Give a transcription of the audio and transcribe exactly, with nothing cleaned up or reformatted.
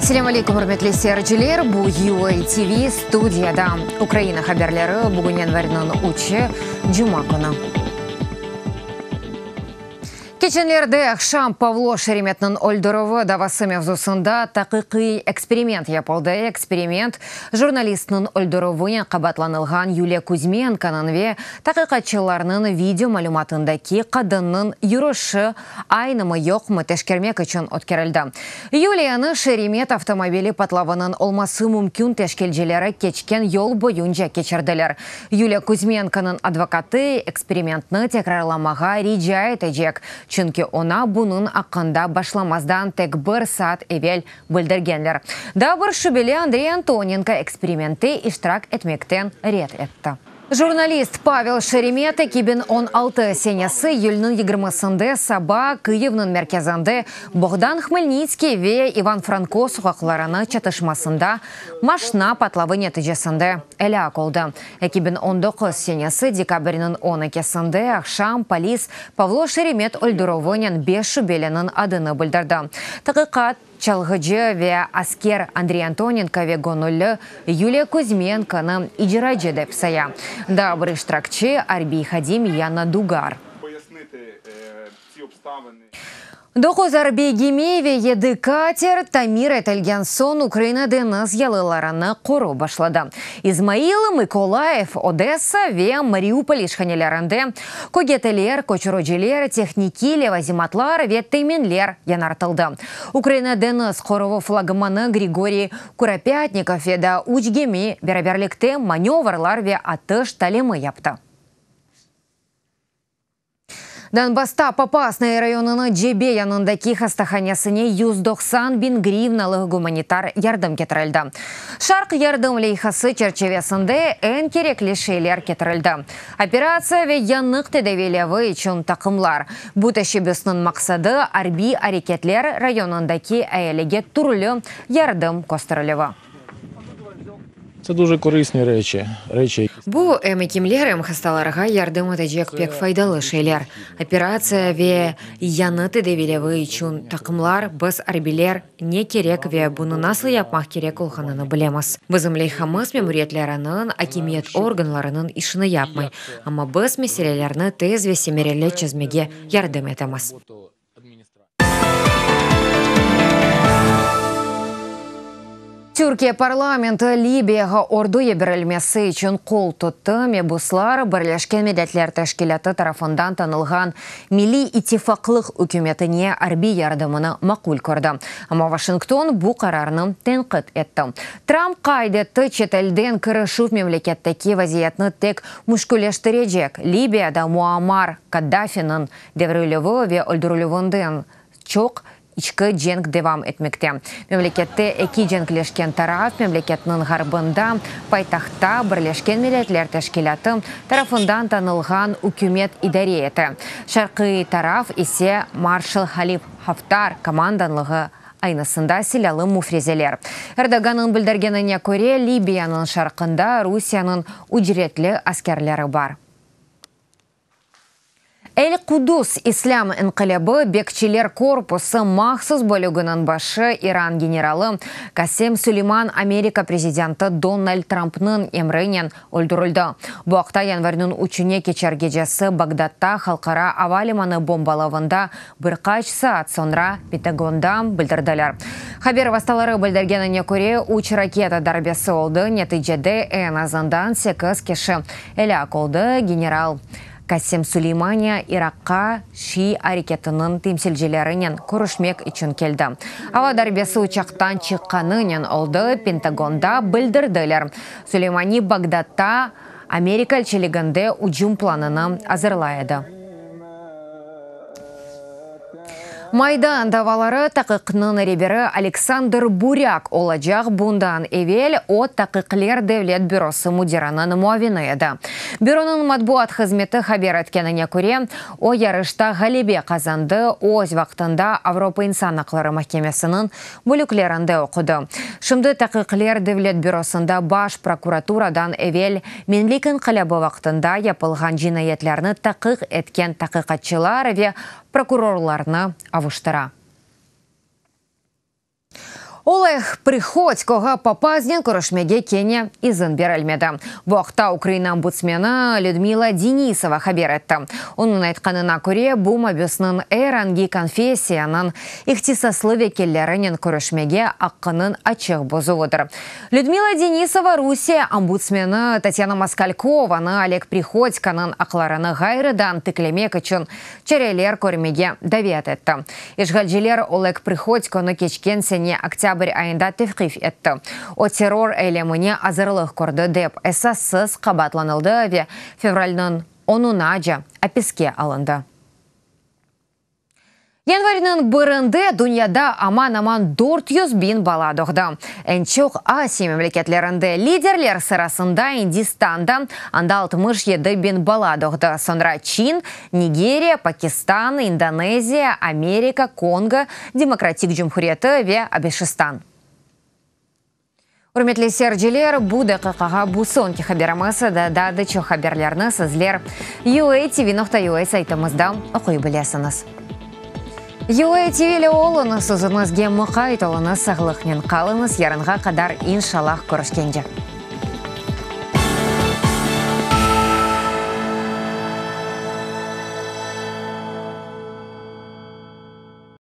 Selâm aleyküm, ürmetli seyirciler. Bu U A T V studiyada Ukraina haberleri bugün yanvarniñ üçü, cuma künü. Keçenlerde aqşam Pavlo Şeremetniñ öldürüvi davası mevzusında taqiqiy eksperiment yapıldı. Eksperiment jurnalistniñ öldürüvinen qabaatlanılğan Yuliya Kuzmenkonıñ ve taqiqatçılarnıñ video malümatındaki qadınnıñ yürüşi aynımı yoqmı teşkermek içün ötkerildi. Yuliyanı Şeremet avtomobili patlavınıñ olması mümkün teşkilcileri keçken yol boyunca keçirdiler. Yuliya Kuzmenkonıñ advokatı eksperimentni tekrarlamağa rica etecek. Çünki oña bunıñ aqqında başlamazdan tek bir saat evel bildirgenler. Daa bir şübeli Andrey Antonenko eksperimentte iştirak etmekten red etti. Jurnalist Pavel Şeremet eki biñ on altı senesi iyülniñ yigirmisinde saba Kıyivniñ merkezinde Bogdan Hmelnitskiy ve İvan Franko soqaqlarını çatışmasında maşna patlavı neticesinde elâk oldı. eki biñ on doquz senesi dekabrniñ on ekisinde aqşam polis Pavlo Şeremet öldürüvinen beş şübeliniñ adını bildirdi. Taqiqat çalğıcı ve asker Andrey Antonenko ve göñülli Yuliya Kuzmenkonı icracı dep saya. Daa bir iştirakçi arbiy hadim Yana Dugar. Doquz arbiy gemi ve yedi kater tamir etilgen soñ Ukraina deñiz yalılarını qorup başladı. İzmail, Mıkolayiv, Odessa ve Mariupol işhanelerinde kögeteler, köçüriciler, tehnikiy levazimatlar ve teminler yañartıldı. Ukraina deñiz qoruvı flagmanı Grigoriy Kuropatnikov ve daa üç gemi beraberlikte manevrlar ve atış talimi yaptı. Donbassta Popasnaya rayonınıñ cebe yanındaki hastahanesine yüz doqsan biñ grivnalıq gumanitar yardım ketirildi. Şarq yardım leyhası çerçivesinde eñ kerekli şeyler ketirildi. Operatsiya ve yanıq tedaviylevi içün taqımlar. Bu teşebbüsniñ maqsadı arbiy areketler rayonındaki ealige türlü yardım kösterilüvi. Це дуже корисні речі, речі. Bu em ekimler, em hastalarğa yardım etecek pek faydalı şeyler. Operatsiya ve yañı tedaviylevi içün taqımlar, biz arbiyler ne kerek ve bunı nasıl yapmaq kerek olğanını bilemiz. Bizim leyhamız memuriyetleriniñ, akimiyet organlarınıñ işini yapmay. Amma biz meselelerni tez ve semereli çezmege yardım etemiz. Türkiye parlamenti Libiyağa ordu yiberilmesi içün qol tuttı. Mebuslar Birleşken Milletler Teşkilâtı tarafından tanılğan Milliy İttifaqlıq ükümetine arbiy yardımını maqul kördi. Amma Washington bu qararnı tenqit etti. Trump qayd etti, çetelden kirişüv memleketteki vaziyetni tek müşkülleştirecek. Libiyada Muammar Kaddafiniñ devrilüvi ve öldürilüvinden çoq içki cenk devam etmekte. Memlekette eki cenkleşken taraf memleketniñ ğarbında paytahtta Birleşken Milletler Teşkilâtı tarafından tanılğan ükümet idare ete. Şarqiy taraf ise marşal Halif Haftar komandanlığı aynısında silâlı müfrezeler. Erdoğannıñ bildirgenine köre, Libiyanıñ şarqında Rusiyeniñ ücretli askerleri bar. El-Kudus İslâm İnqilâbı Bekçiler Korpusı mahsus bölüginiñ başı İran generalı Kasem Süleyman Amerika prezidenti Donald Trumpnıñ emrinen öldürildi. Bu aqta yanvarniñ üçüne keçer gecesi Bağdatta halqara ava limanı bombalavında bir qaç saat soñra Pentagonda bildirdiler. Haber vastaları bildirgenine köre, üç raketa darbesi oldı. Neticede eñ azından sekiz kişi elâk oldı. General Kasem Süleymaniye İraqqa Şii areketiniñ temsilcilerinen körüşmek içün keldi. Ava darbesi uçaqtan çıqqanınen oldı, Pentagonda bildirdiler. Süleymani Bağdatta Amerika elçiliginde ücüm planını azırlay edi. Maydan davaları taqiqnıñ reberi Aleksandr Burâk olacaq. Bundan evel o Taqiqler Devlet Bürosı müdiriniñ muavini edi. Büronıñ matbuat hızmeti haber etkenine köre, o yarışta ğalebe qazandı, öz vaqtında Avropa İnsan aqları mahkemesiniñ bölüklerinde oqudı. Şimdi Taqiqler Devlet Bürosında Baş prokuraturadan evel Menlik İnqilâbı vaqtında yapılğan cinayetlerni taqiq etken taqiqatçılar ve prokurorlarnı avuştıra. Oleg Prihodkoğa papaznen körüşmege kene izin berilmedi. Bu aqta Ukraina ombudsmeni Lüdmila Denisova haber etti. Onıñ aytqanına köre, bu mabüsniñ er angi konfessiyanıñ ihtisaslı vekillerinen körüşmege aqqınıñ açıq bozuvıdır. Lüdmila Denisova Rusiye ombudsmeni Tatyana Moskalkovanı Oleg Prihodkonıñ aqlarını ğayrıdan tiklemek içün çareler körmege davet etti. İşğalciler Oleg Prihodkonı keçken sene oktâbr ayında tevqif etti. O terror eylemine azırlıq kördi dep esassız qabaatlanıldı ve fevralniñ onunace apiske alındı. Yanvarniñ birinde dünyada aman-aman dört yüz biñ bala doğdı. Eñ çoq Asiya memleketlerinde, liderler sırasında Indistanda, anda altmış yedi biñ bala doğdı. Soñra Çin, Nigeriya, Pakistan, İndoneziya, Amerika, Kongo Demokratik Cumhuriyeti ve Abeşistan. Ürmetli seyirciler, bu daqiqağa bu soñki haberimiz. Daa da çoq haberlerni sizler U A T V nokta U A saytımızda oquy bilesiñiz. U A T V ile oluñız, özüñizge muqayt oluñız, sağlıqnen qalıñız, yarınğa qadar inşallah körüşkence.